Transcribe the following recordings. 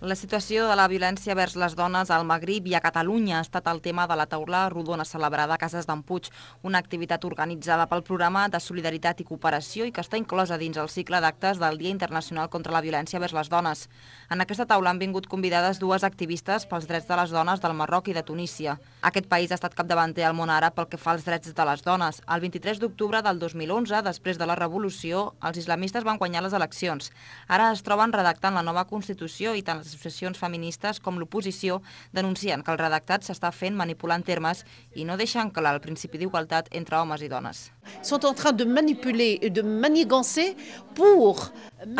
La situació de la violència vers les dones al Magrib i a Catalunya ha estat el tema de la taula rodona celebrada a Cases d'en Puig, una activitat organitzada pel Programa de Solidaritat i Cooperació i que està inclosa dins el cicle d'actes del Dia Internacional contra la Violència vers les Dones. En aquesta taula han vingut convidades dues activistes pels drets de les dones del Marroc i de Tunísia. Aquest país ha estat capdavanter al món àrab pel que fa als drets de les dones. El 23 d'octubre del 2011, després de la revolució, els islamistes van guanyar les eleccions. Ara es troben redactant la nova Constitució i tant les associacions feministes com l'oposició denuncien que el redactat s'està fent manipulant termes i no deixant clar el principi d'igualtat entre homes i dones. Sont en train de manipuler et de manigancer pour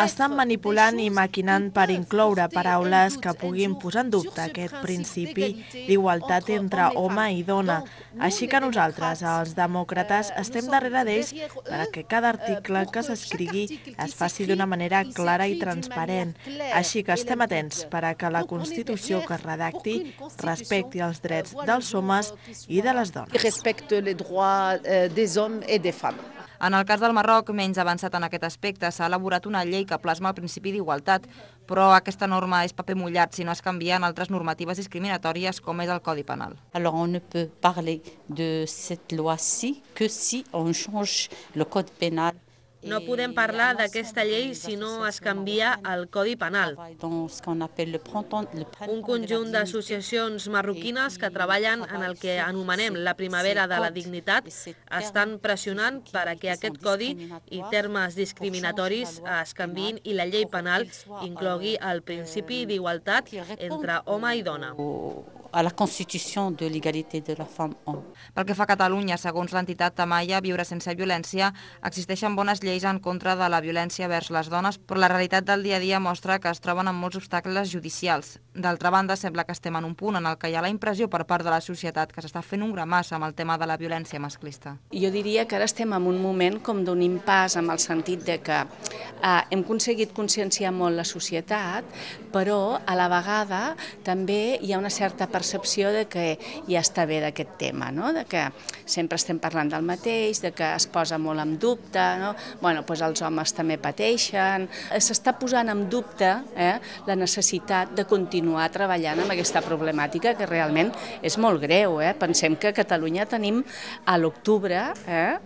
Estan manipulant i maquinant per incloure paraules que puguin posar en dubte aquest principi d'igualtat entre home i dona. Així que nosaltres, els demòcrates, estem darrere d'ells perquè cada article que s'escrigui es faci d'una manera clara i transparent. Així que estem atents per a que la Constitució que es redacti respecti els drets dels homes i de les dones. respecte les droits des hommes et des femmes. En el cas del Marroc, menys avançat en aquest aspecte, s'ha elaborat una llei que plasma el principi d'igualtat, però aquesta norma és paper mullat si no es canvien altres normatives discriminatòries com és el Codi Penal. Alors on ne peut parler de cette loi-ci que si on change le code pénal. No podem parlar d'aquesta llei si no es canvia el Codi Penal. Un conjunt d'associacions marroquines que treballen en el que anomenem la primavera de la dignitat estan pressionant per a que aquest codi i termes discriminatoris es canviïn i la llei penal inclogui el principi d'igualtat entre home i dona. A la Constitució de l'égalité de la femme-homme. Pel que fa a Catalunya, segons l'entitat Tamaia Viure sense violència, existeixen bones lleis en contra de la violència vers les dones, però la realitat del dia a dia mostra que es troben amb molts obstacles judicials. D'altra banda, sembla que estem en un punt en el que hi ha la impressió per part de la societat que s'està fent un gramàs amb el tema de la violència masclista. Jo diria que ara estem en un moment com d'un impàs, amb el sentit de que hem aconseguit conscienciar molt la societat, però a la vegada també hi ha una certa percepció de que ja està bé d'aquest tema, no? De que sempre estem parlant del mateix, de que es posa molt en dubte, no? Bueno, doncs els homes també pateixen. S'està posant en dubte la necessitat de continuar treballant amb aquesta problemàtica que realment és molt greu. Pensem que a Catalunya tenim a l'octubre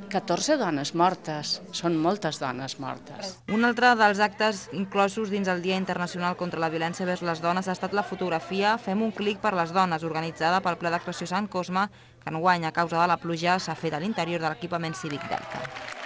14 dones mortes. Són moltes dones mortes. Un altre dels actes inclosos dins el Dia Internacional contra la Violència vers les Dones ha estat la fotografia Fem un clic per les dones, organitzada pel Ple d'Actuació Sant Cosme, que enguany, a causa de la pluja, s'ha fet a l'interior de l'equipament cívic d'Elca.